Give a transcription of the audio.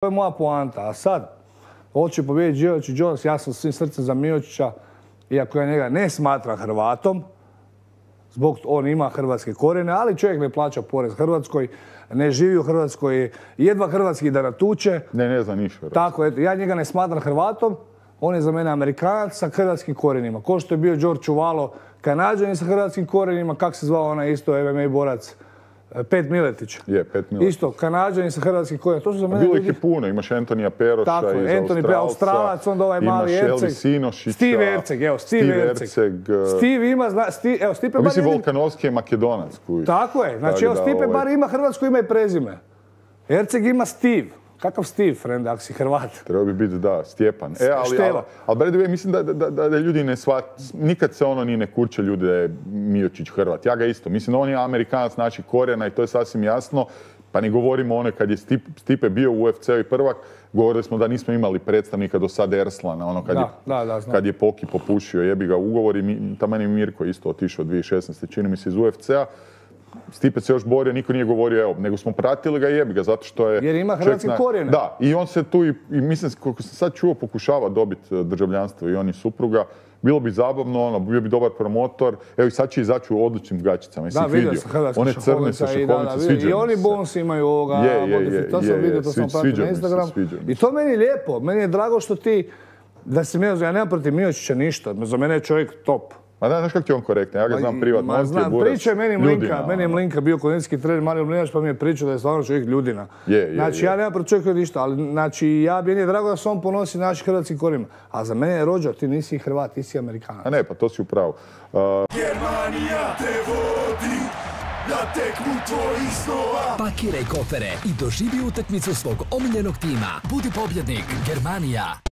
To je moja poanta. A sad, hoće pobijediti Mijočić Jones, ja sam svim srcem za Mijočića, iako ja njega ne smatram Hrvatom, zbog on ima hrvatske korijene, ali čovjek ne plaća porez Hrvatskoj, ne živi u Hrvatskoj, jedva hrvatski da natuče. Ne zna ništa. Tako, eto, ja njega ne smatram Hrvatom, on je za mene Amerikanac sa hrvatskim korijenima. Ko što je bio Đorđe Čuvalo, Kanađanin sa hrvatskim korijenima, kak se zvao onaj isto MMA borac, Pet Miletić. Je, Pet Miletić. Isto, Kanađanin sa hrvatskim korijenima. To su za mene bilo ih je puno, imaš Antonija Peroša tako, iz Anthony Australac, onda ovaj mali Erceg. Imaš Elvis Sinošića. Steve Erceg, evo, Steve Erceg. Steve ima, evo, Stipe bar... Mislim, Volkanovski je Makedonac. Tako je, znači evo, Stipe bar ima hrvatsko ime i prezime. Erceg ima Steve. Kakav Steve, friend, ako si Hrvat? Treba bi biti, da, Stjepan. Ali by the way, mislim da ljudi ne nikad se ono ni ne kurče ljudi da je Mijočić Hrvat. Ja ga isto. Mislim da on je Amerikanac naših korijena i to je sasvim jasno. Pa ne govorimo ono kad je Stipe bio u UFC-u i prvak, govorili smo da nismo imali predstavnika do sad Erslana, ono kad je Poki popušio, jebi ga ugovor i taman je Mirko isto otišao 2016. čini mi se iz UFC-a. Stipe se još borio, niko nije govorio, evo, nego smo pratili ga i jebi ga, zato što je... Jer ima hrvatske korijene. Da, i on se tu, i mislim, koliko sam sad čuo, pokušava dobiti državljanstvo i on i supruga. Bilo bi zabavno, ono, bio bi dobar promotor. Evo i sad će izaći u odličnim gaćicama. Da, vidio sam hrvatske šahovnice. I oni Bones imaju ovoga modifikacije. To sam vidio, to sam pratio na Instagramu. I to meni je lijepo. Meni je drago što ti, da se ja nemam protiv Mijočića ništa. Za mene je čovjek top. Ma da, znaš kako ti on korektan, ja ga znam privatno. Priča je meni je Mlinka bio kondicijski trener Mario Mlinač, pa mi je pričao da je stvarno čovjek ljudina. Znači, ja nemam protiv čovjeka ništa, ali znači, meni je drago da se on ponosi naših hrvatskih korijena. A za mene je Rođo, ti nisi Hrvat, ti si Amerikanac. A ne, pa to si upravo. Germanija te vodi na tekmu tvojih snova. Pakiraj kofere i doživi utakmicu svog omiljenog tima. Budi pobjednik, Germanija.